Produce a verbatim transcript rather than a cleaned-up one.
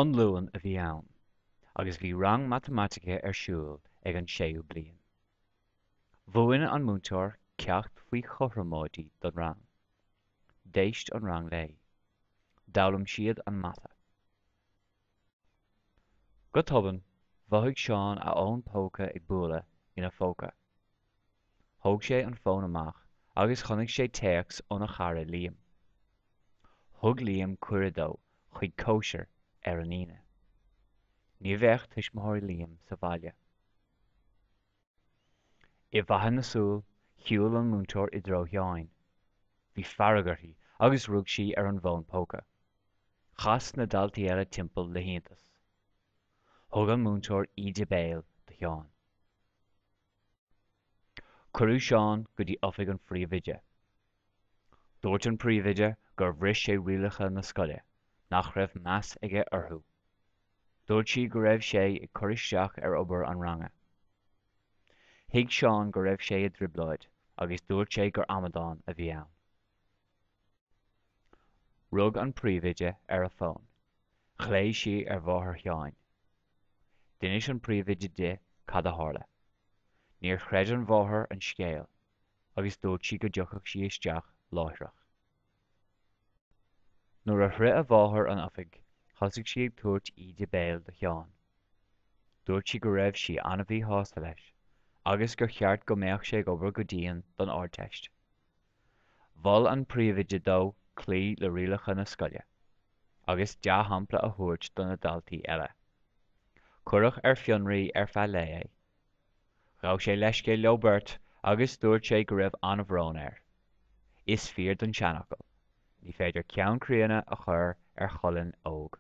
An Luan a bhí ann agus bhí rang matamaitice ar siúl ag an séú bliain. Mhúin an múinteoir ceacht faoi chothromóidí don rang. D'éist an rang léi. D'fhoghlaim siad an mata. Go tobann, mhothaigh Seán a fhón póca ag bualadh ina phóca. Thóg sé an fón amach agus chonaic sé téacs óna chara Liam. Thug Liam cuireadh dó chuig cóisir ar an Aoine. Ní bheadh tuismitheoirí Liam sa bhaile. I bhfaiteadh na súl, shiúil an múinteoir i dtreo Sheáin. Bhí fearg uirthi agus rug sí ar an bhfón póca. Chas na daltaí eile timpeall le hiontas. Thug an múinteoir íde béil do Sheán. Cuireadh Seán go dtí oifig an phríomhoide. Dúirt an príomhoide gur bhris sé rialacha na scoile, nach raibh meas aige orthu. Dúirt sí go raibh sé ag cur isteach ar obair an ranga. Thuig Seán go raibh sé i dtrioblóid agus dúirt sé gur amadán a bhí ann. Rug an príomhoide ar a fón. Ghlaoigh sí ar mháthair Sheáin. D'inis an príomhoide di cad a tharla. Níor chreid an mháthair an scéal agus dúirt sí go dtiocfadh sí isteach láithreach. Nuair a shroich a mháthair an oifig, thosaigh sí ag tabhairt íde béil do Sheán. Dúirt sí go raibh sí an-mhíshásta leis agus gur cheart go mbeadh sé ag obair go dian don Ardteist. Mhol an príomhoide dó cloí le rialacha na scoile agus dea-shampla a thabhairt do na daltaí eile. Cuireadh ar fionraí ar feadh lae é. Ghabh sé leithscéal leo beirt agus dúirt sé go raibh an-bhrón air. Is fíor don seanfhocal, ní féidir ceann críonna a chur ar cholainn óg.